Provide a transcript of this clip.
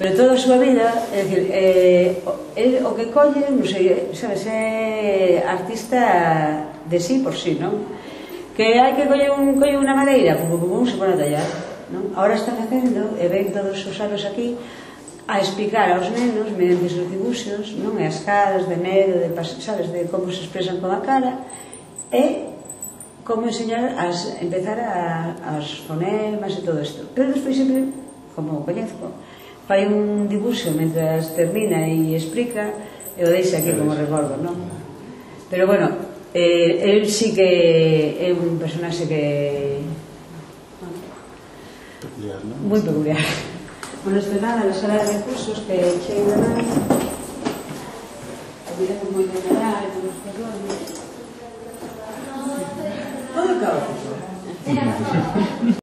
pero toda a súa vida, é dicir, o que colle, non sei, sabes, é artista de sí por sí, non? Que hai que colle unha madeira, se pone a tallar, non? Ahora está facendo, e ven todos os anos aquí, a explicar aos nenos, mediante os dibuxos, non? E as caras de medo, sabes, de como se expresan con a cara, e como enseñar a empezar as fonemas e todo isto. Pero despois sempre, como o coñezco, fai un dibuxo mentras termina e explica, e o deixa aquí como recordo, non? Pero bueno, el sí que é un personaxe que... peculiar, non? Moi peculiar. Bueno, isto é nada, na sala de recursos que chego de nada, olvidamos moi de nada, e todos os perdones. Todo caótico.